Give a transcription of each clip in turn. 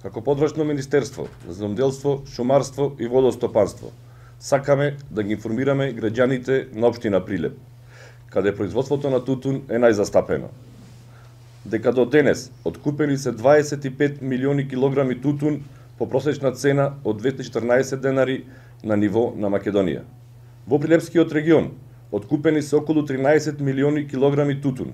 Како подрачно Министерство за земјоделство, шумарство и водостопанство, сакаме да ги информираме граѓаните на општина Прилеп, каде производството на тутун е најзастапено. Дека до денес откупени се 25 милиони килограми тутун по просечна цена од 214 денари на ниво на Македонија. Во Прилепскиот регион откупени се околу 13 милиони килограми тутун,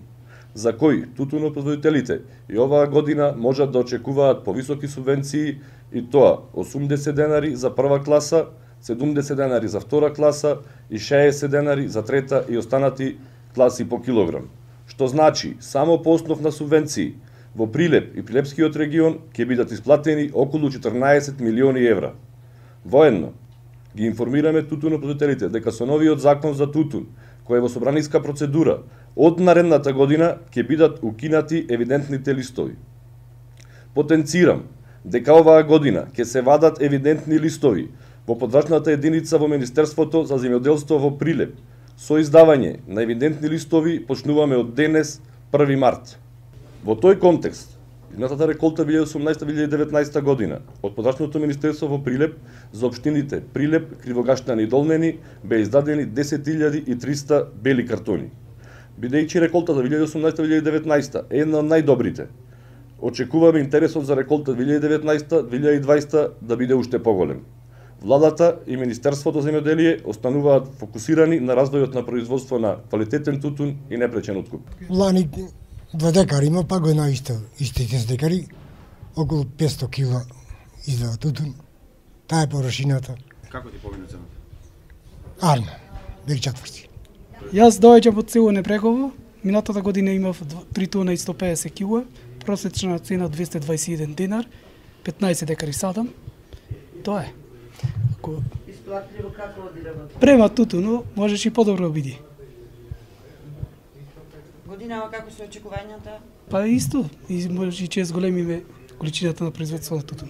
за кои тутунопроизводителите и оваа година можат да очекуваат повисоки субвенции, и тоа 80 денари за прва класа, 70 денари за втора класа и 60 денари за трета и останати класи по килограм. Што значи, само по основ на субвенции во Прилеп и Прилепскиот регион ќе бидат исплатени околу 14 милиони евра. Воедно, ги информираме тутунопроизводителите дека со новиот закон за тутун, кој е во собраниска процедура, од наредната година ќе бидат укинати евидентните листови. Потенцирам дека оваа година ќе се вадат евидентни листови во подрачната единица во Министерството за земјоделство во Прилеп. Со издавање на евидентни листови почнуваме од денес, 1 март. Во тој контекст, изминатата реколта 2018-2019 година од подрачното Министерство во Прилеп за општините Прилеп, Кривогаштани и Долнени беа издадени 10.300 бели картони. Бидејќи реколтата 2018-2019 е една од најдобрите, очекуваме интересот за реколта 2019-2020 да биде уште поголем. Владата и Министерството за земјоделие остануваат фокусирани на развојот на производство на квалитетен тутун и непречен откуп. Лани 2 декари има, па година истите декари, околу 500 кила издава тутун. Таа е површината. Како ти помина цената? Арно, бег четврти. Јас доаѓам од село Непрегово, минатата година имав 3 тона и 150 кила, просечна цена 221 динар, 15 декари садам. Тоа е. Исплатливо како оди работа? Према тутуно, можеш и подобро биде. Годинава како се очекувањата? Па исто, и може и чест големиме количината на производство на тутун.